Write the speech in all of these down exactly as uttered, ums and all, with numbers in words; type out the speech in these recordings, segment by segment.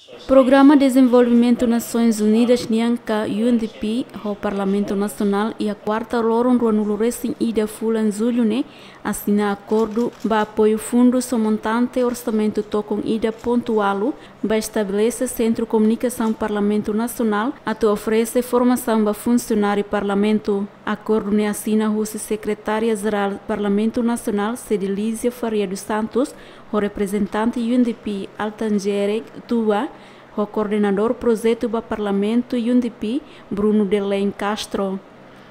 Programa Dezenvolvimentu Nasoins Unidas nian ka U N D P ho Parlamentu Nasionál iha kuarta loron ruanulu resin ida fulan Jullu ne'e asina akordu ba apoiu fundu ho montante orsamentu tokon ida pontu ualu ba estabelese Sentru Komunikasaun Parlamentu Nasionál atu oferese formasaun ba funsionáriu Parlamentu. Akordu ne'e asina husi Sekretária Jerál Parlamentu Nasionál Cedelízia Faria dos Santos ho reprezentante U N D P Altanjere Tua ho koordenadór projetu ba Parlamentu U N D P Bruno Delen Castro.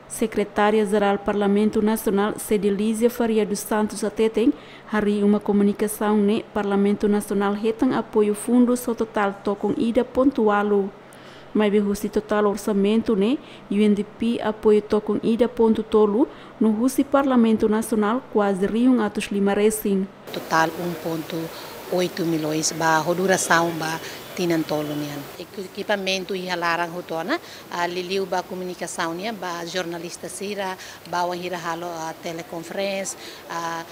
Sekretária Jerál Parlamentu Nasionál Cedelízia Faria dos Santos hateten, harii uma komunikasaun ne'e Parlamentu Nasionál hetan apoiu fundu ho totál tokon ida pontu ualu. Maibé husi totál orsamentu ne'e, U N D P apoiu tokon ida pontu tolu, no husi Parlamentu Nasionál kuaze rihun atus lima resin. Totál um ponto oito milhões ba ho durasaun ba tinan tolu nian. Eku-, ekipamentu iha laran hotu ona, ah, liuliu ba komunikasaun nian, ba jornalista sira, ba wainhira halo, ah, telekonferénsia, ah,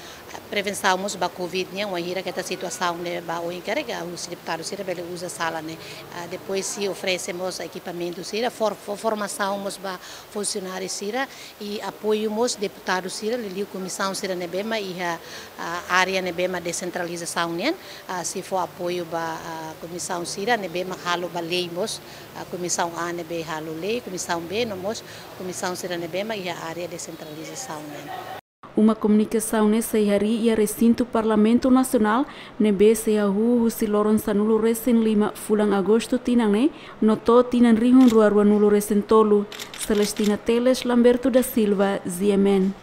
prevensaun mós ba covid nian, wainhira katak situasaun ne'e ba oin karik, ah, husi deputadu sira bele uza sala ne'e. Ah, depois sei oferese mós ekipamentu sira, for-, for-, formasaun mós ba funsionáriu sira, i apoiu mós deputadu sira, liuliu komisaun sira ne'ebé mak iha, ah, área ne'ebé mak desentralizasaun nian, ah, sei fó apoiu ba, ah, komisaun sira ne'ebé mak halo ba lei mós, ah, komisaun A ne'ebé halo lei, komisaun B, no mós komisaun sira ne'ebé mak iha área desentralizasaun nian. Uma komunikasaun ne'e sei harii iha resintu Parlamentu Nasionál, ne'ebé sei hahú husi loron sanulu resin lima fulan Agostu tinan ne'e, no to'o tinan rihun rua ruanulu resin tolu. Celestina Teles, Lamberto da Silva, Z M N.